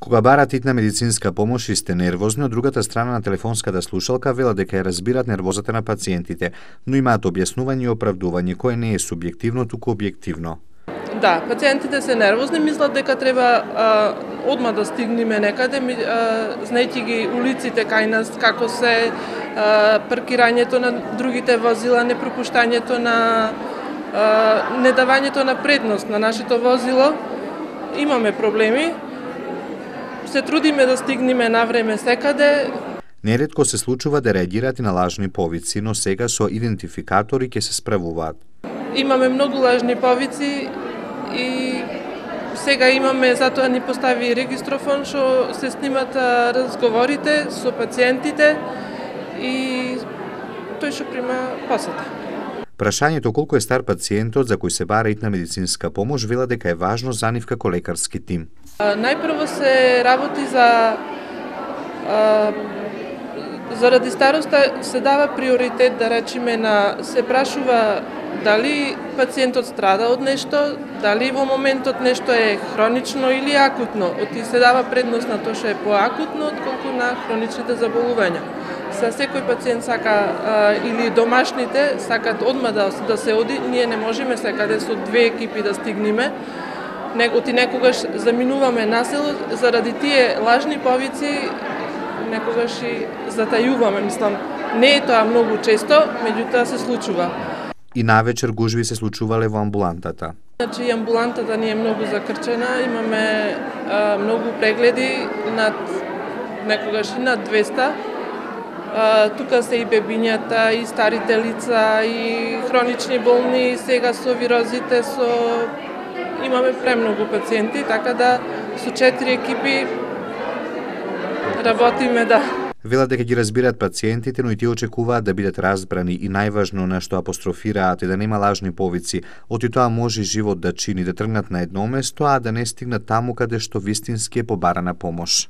Кога барат итна медицинска помош и сте нервозни, од другата страна на телефонската слушалка велат дека ја разбират нервозата на пациентите, но имаат објаснување и оправдување кое не е субјективно, туку објективно. Да, пациентите се нервозни, мислат дека треба одма да стигнеме некаде, знаејќи ги улиците кај нас, како се паркирањето на другите возила, непропуштањето на недавањето на предност на нашето возило. Имаме проблеми. Се трудиме да стигнеме на време секаде. Неретко се случува да реагираат и на лажни повици, но сега со идентификатори ќе се справуваат. Имаме многу лажни повици и сега имаме, затоа ни постави регистрофон што се снимат разговорите со пациентите и тој што прима посета. Прашањето колку е стар пациентот за кој се бара итна медицинска помош вела дека е важно за нив како лекарски тим. Најпрво се работи заради староста се дава приоритет, да речеме, се прашува дали пациентот страда од нешто, дали во моментот нешто е хронично или акутно. Се дава предност на тоа што е поакутно отколку на хроничните заболувања. Секој пациент сака или домашните сакат одма да се оди, ние не можеме секаде со две екипи да стигнеме. Некогаш заминуваме на село, заради тие лажни повици некогаш и затајуваме, мислам. Не е тоа многу често, меѓутоа се случува. И навечер гужви се случувале во амбулантата. Значи, амбулантата ни е многу закрчена, имаме многу прегледи, некогаш и над 200. Тука се и бебињата, и старите лица, и хронични болни, сега со вирозите, имаме премногу пациенти, така да со 4 екипи работиме, да. Велат дека ги разбираат пациентите, но и тие очекуваат да бидат разбрани и најважно на што апострофираат е да нема лажни повици. Оти тоа може живот да чини, да тргнат на едно место, а да не стигнат таму каде што вистински е побарана помош.